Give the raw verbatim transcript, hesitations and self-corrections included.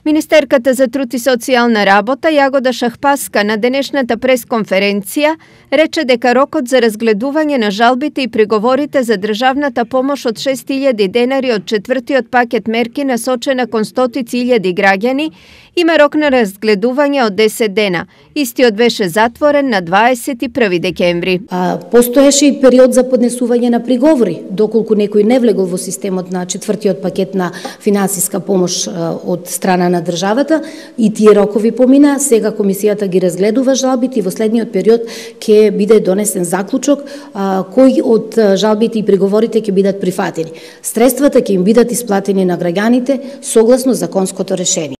Министерката за труд и социјална работа Јагода Шахпаска на денешната пресконференција рече дека рокот за разгледување на жалбите и приговорите за државната помош од шест илјади денари од четвртиот пакет мерки насочена кон стотици илјади граѓани има рок на разгледување од десет дена. Истиот беше затворен на дваесет и први декември. А, постоеше и период за поднесување на приговори, доколку некој не влегол во системот на четвртиот пакет на финансиска помош а, од страна на државата, и тие рокови помина. Сега комисијата ги разгледува жалбите и во следниот период ќе биде донесен заклучок а, кои од жалбите и приговорите ќе бидат прифатени. Средствата ќе им бидат исплатени на граѓаните согласно законското решение.